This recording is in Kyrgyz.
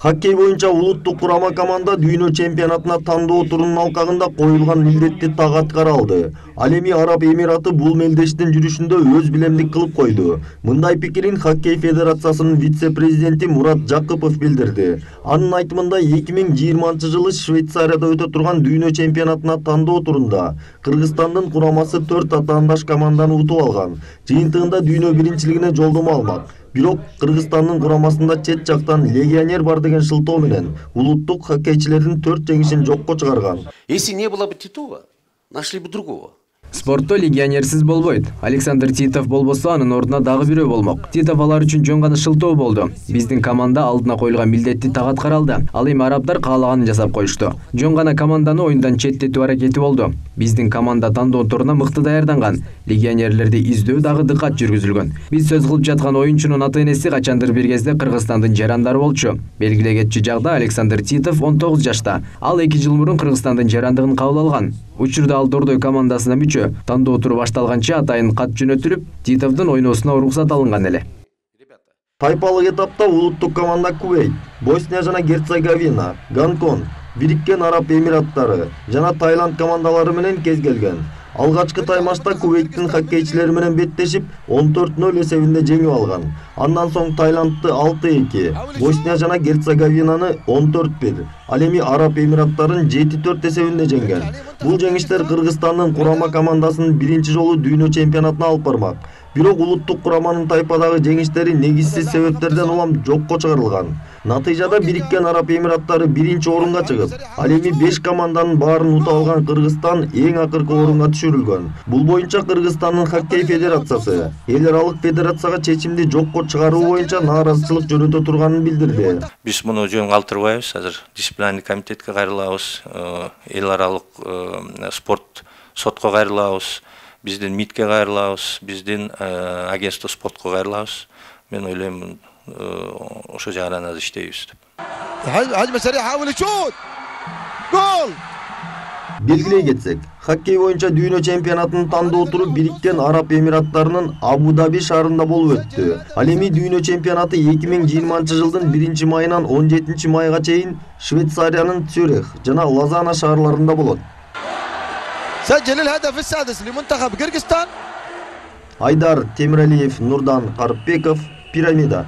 Хоккей боюнча улуттук курама команда дүйнө чемпионатына тандоо турунун алкагында коюлган милдетти так аткара алды. Ал эми Араб Эмираты бул мелдештин жүрүшүндө өз билемдик кылып койду. Мындай пикирин Хоккей федерациясынын вице-президенти Мурат Жакыпов билдирди. Анын айтымында 2020-жылы Швейцарияда өтө турган дүйнө чемпионатына тандоо турунда Кыргызстандын курамасы 4 атаандаш команданы утуп алган. Жыйынтыгында дүйнө биринчилигине жолдомо алмак. Бирок Кыргызстандын курамасында чет жактан легионер бар деген шылтоо менен улуттук хоккейчилердин 4 жеңишин жокко чыгарган. Если не было бы Титова, нашли бы другого. Спортто легионерсиз болбойт. Александр Титов болбосо анын ордуна дагы бирөө болмок. Титов алар үчүн жөн гана шылтоо болду. Биздин команда алдына коюлган милдетти так аткара алды. Ал эми арабдар каалаганын жасап коюшту. Жөн гана команданы оюндан четтетүү аракети болду. Биздин команда тандоо туруна мыкты даярданган. Легионерлерди издөө дагы дыкат жүргүзүлгөн. Биз сөз кылып жаткан оюнчунун ата-энеси качандыр бир кезде Кыргызстандын жарандары болчу. Белгиле кетчү жагда Александр Титов 19 жашта. Ал 2 жыл мурун Кыргызстандын жарандыгын кабыл алган. Учурда ал Дордой командасына мүчө. Тандоо туру башталганча атайын кат жөнөтүлүп, Титовдун ойноосуна уруксат алынган эле. Тайпалык этапта улуттук команда Кувейт, Босния жана Герцеговина, Гонконг, Бириккен Араб Эмираттары жана Таиланд командалары менен кезгелген. Алгачкы таймашта Кувейттин хоккейчилери менен беттешип 14-0 эсебинде жеңип алган. Андан соң Таиландты 6-2, Босния жана Герцеговинаны 14-1, ал эми Араб Эмираттарын 7-4 эсебинде жеңген. Бул жеңиштер Кыргызстандын курама командасынын биринчи жолу дүйнө чемпионатына алып бармак. Бирок улуттук кураманын тайпадагы жеңиштери негизсиз себептерден улам жокко чыгарылган. Натыйжада Бириккен Араб Эмираттары биринчи орунга чыгып, ал эми 5 команданын баарын утуп алган Кыргызстан эң акыркы орунга түшүрүлгөн. Бул боюнча Кыргызстандын хоккей федерациясы эл аралык федерацияга чечимди жокко чыгаруу боюнча нааразычылык жөнөтө турганын билдирди. Биз муну жөн калтырбайбыз, азыр дисциплинарный комитетке кайрылабыз, эл аралык спорт сотко кайрылабыз. Биздин МИДке кайрылабыз, биздин агентство спортко кайрылабыз. Мен ойлойм, ошо жагынан азыр иштейбиз деп. Гол! Белгилей кетсек, хоккей боюнча дүйнө чемпионатынын тандоо туру Бириккен Араб Эмираттарынын Абу-Даби шаарында болуп өттү. Ал эми дүйнө чемпионаты 2020-жылдын 1-майынан 17-майга чейин Швейцариянын Цюрих жана Лозанна шаарларында болот. سجل الهدف السادس لمنتخب قرقستان. Айдар Темиралиев, Нурдан Карпбеков, Пирамида.